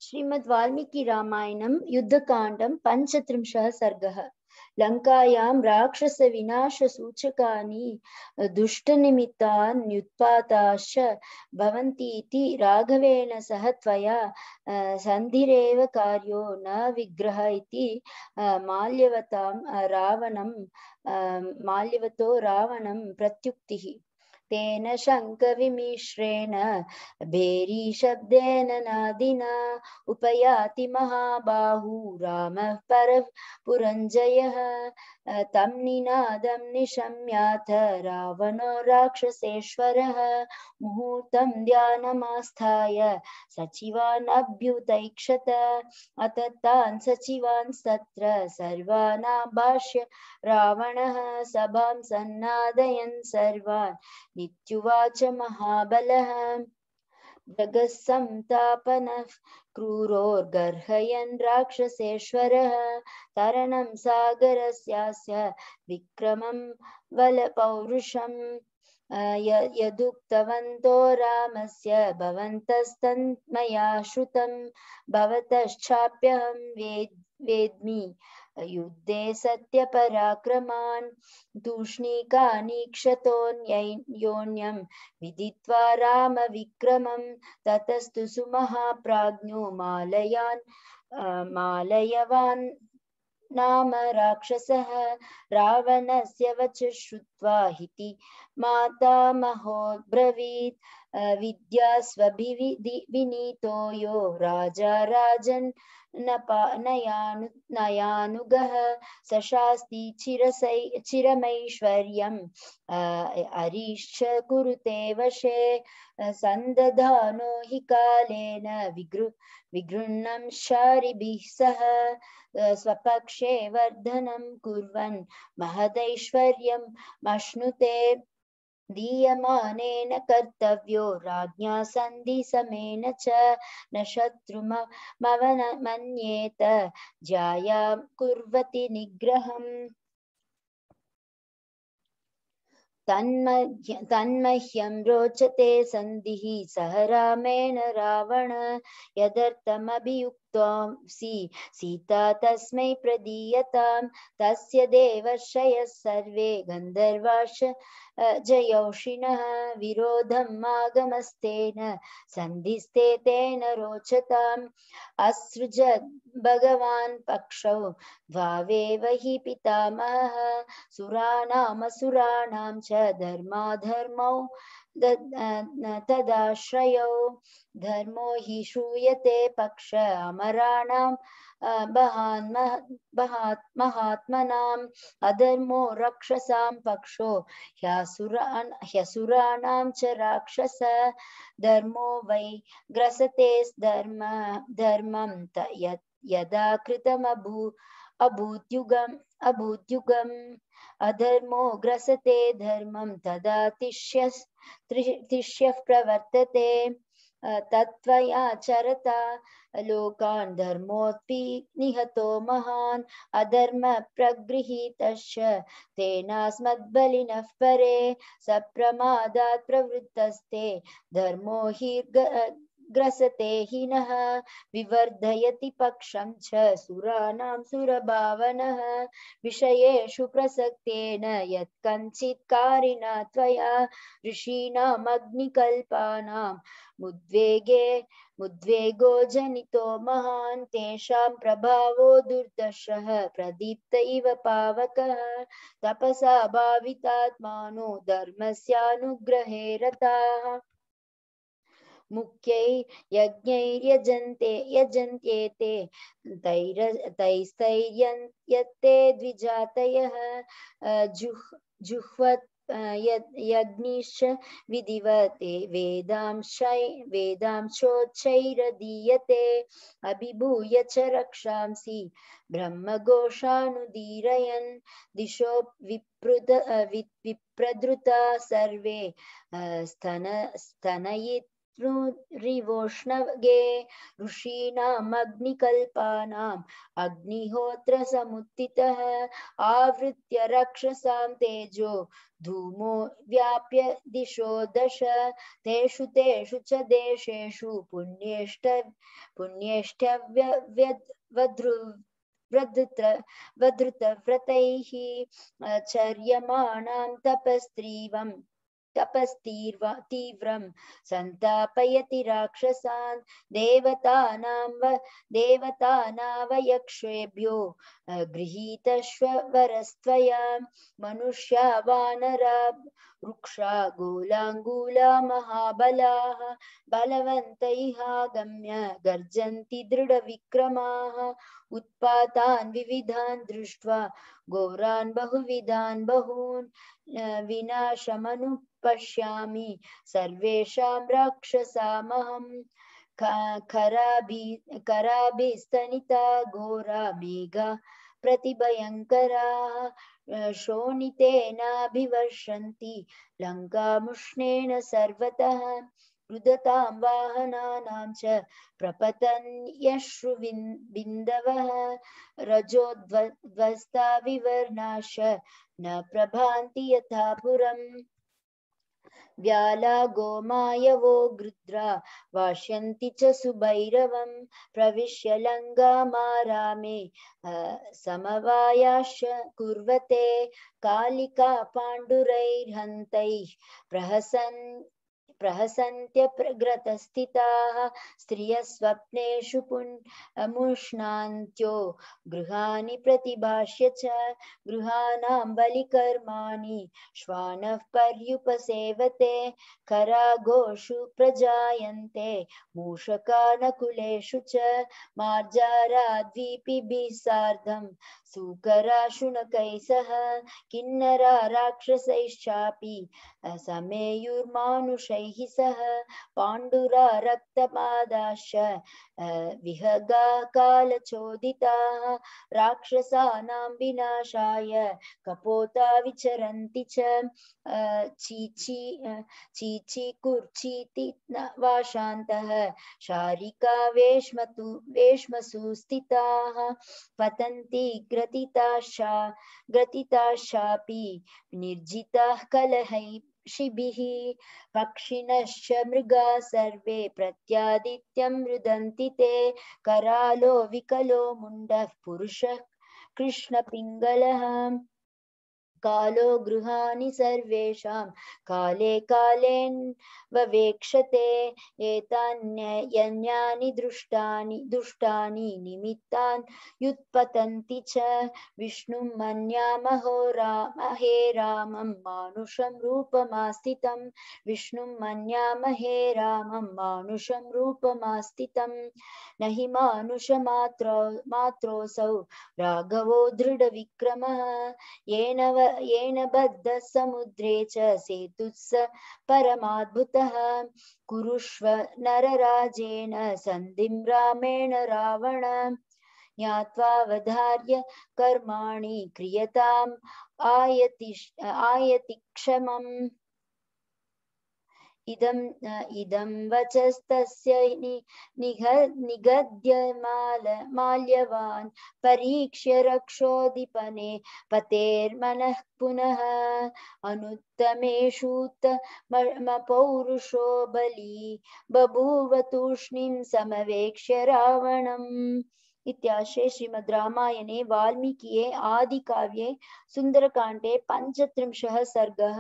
श्रीमद् वाल्मीकि रामायणं युद्धकाण्डं 35 सर्गः। लङ्कायां राक्षसविनाशसूचकानि दुष्टनिमित्तान्युत्पाताश्च भवन्तीति राघवेण सह त्वया सन्धिरेव कार्यो न विग्रह इति माल्यवतो रावणं प्रत्युक्तिः। तेन शङ्खविमिश्रेण भेरीशब्देन नादिना उपयाति महाबाहु रामः परः पुरञ्जयः। तं निनादं निशम्याथ रावणो राक्षसेश्वरः। मुहूर्तं ध्यानमास्थाय सचिवान् अभ्युतैक्षत। अत तान् सचिवांस्तत्र सर्वानाभाष्य रावणः सभां सन्नादयन् सर्वान् नित्युवाच महाबलः। जगत्संतापनः क्रूरोर्गर्हयन् राक्षसेश्वरः। तरणं सागरस्यास्य विक्रमं बलपौरुषम् यदुक्तवन्तो रामस्य भवन्तस्तन्मया श्रुतं। भवतश्चाप्यहं वेद्मि युद्धे सत्यपराक्रमान्। तूष्णीकानीक्षतोऽन्योन्यं विदित्वा रामविक्रमं। ततस्तु सुमहाप्राज्ञो मालयवान् नाम राक्षसः। रावणस्य वच श्रुत्वा हिति मातामहोऽब्रवीत्। विद्यास्वभिविनीतो यो राजा राजन् नयानुगः। सशास्ति चिरमैश्वर्यम् अरीश्च कुरुते वशे। सन्दधानो हि कालेन विगृह्णं शारिभिः सह। स्वपक्षे वर्धनं कुर्वन् महदैश्वर्यम् अश्नुते। दीयमानेन कर्तव्यो राज्ञा सन्धिसमेन च। न शत्रुमवनमन्येत ज्यायां कुर्वति निग्रहम्। तन्मह्यं रोचते सन्धिः सह रामेण रावण। यदर्थमभियुक्तोऽसि सीता तस्मै प्रदीयताम्। तस्य देवर्षयः सर्वे गन्धर्वाश्च जयौषिणः। विरोधम् आगमस्तेन सन्धिस्ते तेन रोचताम्। असृजद् भगवान् पक्षौ द्वावेव हि पितामहः। सुराणामसुराणां च धर्माधर्मौ तदाश्रयौ। धर्मो हि श्रूयते पक्ष अमराणां महात्मनाम्। अधर्मो रक्षसां पक्षो ह्यसुराणां च राक्षस। धर्मो वै ग्रसते धर्मं यदा कृतमभूद्युगम्। अधर्मो ग्रसते धर्मं तदा तिष्यः प्रवर्तते। तत्त्वया चरता लोकान् धर्मोऽपि निहतो महान्। अधर्म प्रगृहीतश्च तेनास्मद्बलिनः परे। सप्रमादात् प्रवृत्तस्ते धर्मो हि ग्रसते हि नः। विवर्धयति पक्षं च सुराणां सुरभावनः। विषयेषु प्रसक्तेन यत्कञ्चित् कारिणा त्वया ऋषीणाम् अग्निकल्पानां मुद्वेगो जनितो महान्। तेषां प्रभावो दुर्दशः प्रदीप्त इव पावकः। तपसा भावितात्मानो धर्मस्यानुग्रहे रताः। मुख्यै यजन्त्येते तैस्तैर्यन्ते द्विजातयः। जुह्वत् यज्ञिश्च विधिवते वेदांशोच्चैरदीयते। अभिभूय च रक्षांसि ब्रह्मघोषानुदीरयन्। दिशो विप्रदृता सर्वे स्तनयित् रिवोष्णगे ऋषीणाम् अग्निकल्पानाम् अग्निहोत्रसमुत्थितः आवृत्य रक्षसां तेजो धूमो व्याप्य दिशो दश तेषु तेषु च देशेषु वधृतव्रतैः चर्यमाणां तपस्तीव्रं संतापयति राक्षसान् देवतानावयक्षेभ्यो गृहीतश्वरस्त्वया मनुष्या वानरा वृक्षा गोलाङ्गूला महाबलाः बलवन्तैहागम्य गर्जन्ति दृढविक्रमाः उत्पातान् विविधान् दृष्ट्वा घोरान् बहुविधान् बहून् विनाशमनुपश्यामि सर्वेषां राक्षसामहम् कराभिस्तनिता घोरा मेघा प्रतिभयङ्कराः शोणितेनाभिवर्षन्ति लङ्कामुष्णेन सर्वतः रुदतां वाहनानां च प्रपतन्यश्रुबिन्दवः रजोध्वस्ता विवर्णाश्च न प्रभान्ति यथा पुरम् व्याला गोमायवो गृध्रा वाष्यन्ति च सुभैरवं प्रविश्य लङ्गामारामे समवायाश्च कुर्वते कालिका पाण्डुरैर्हन्तैः प्रहसन्त्यप्रग्रतस्थिताः स्त्रियः स्वप्नेषु मुष्णान्त्यो गृहाणि प्रतिभाष्य च गृहाणां बलिकर्माणि श्वानः पर्युपसेवते करागोषु प्रजायन्ते मूषकानकुलेषु च मार्जाराद्वीपिभिः सार्धं सूकरा शुनकैः सह किन्नरा राक्षसैश्चापि समेयुर्मानुषैः सह पाण्डुरा रक्तपादाश्च विहगा कालचोदिताः राक्षसानां विनाशाय कपोता विचरन्ति च चीचीकुर्चीति वाशान्तः शारिका वेश्मसु स्थिताः पतन्ति ग्रथिताश्चापि निर्जिताः कलहैः शिभिः पक्षिणश्च मृगाः सर्वे प्रत्यादित्यं रुदन्ति ते करालो विकलो मुण्डः पुरुषः कृष्णपिङ्गलः कालो गृहाणि सर्वेषां काले कालेन्ववेक्षते एतान्यन्यानि दुष्टानि निमित्तान् युत्पतन्ति च विष्णुं मन्यामहो हे रामं मानुषं रूपमास्थितं विष्णुं मन्यामहे रामं मानुषं रूपमास्थितं न हि मानुषमात्रोऽसौ राघवो दृढविक्रमः येन बद्धः समुद्रे च सेतुः परमाद्भुतः कुरुष्व नरराजेन सन्धिं रामेण रावण ज्ञात्वावधार्य कर्माणि क्रियताम् आयति क्षमम् इदं वचस्तस्य निगद्य माल्यवान् परीक्ष्य रक्षोदीपने पतेर्मनः पुनः अनुत्तमेषूत्तमपौरुषो बली बभूव तूष्णीं समवेक्ष्य रावणम्। इत्याश्रे श्रीमद् रामायणे वाल्मीकिये आदिकाव्ये सुन्दरकाण्डे 35 सर्गः।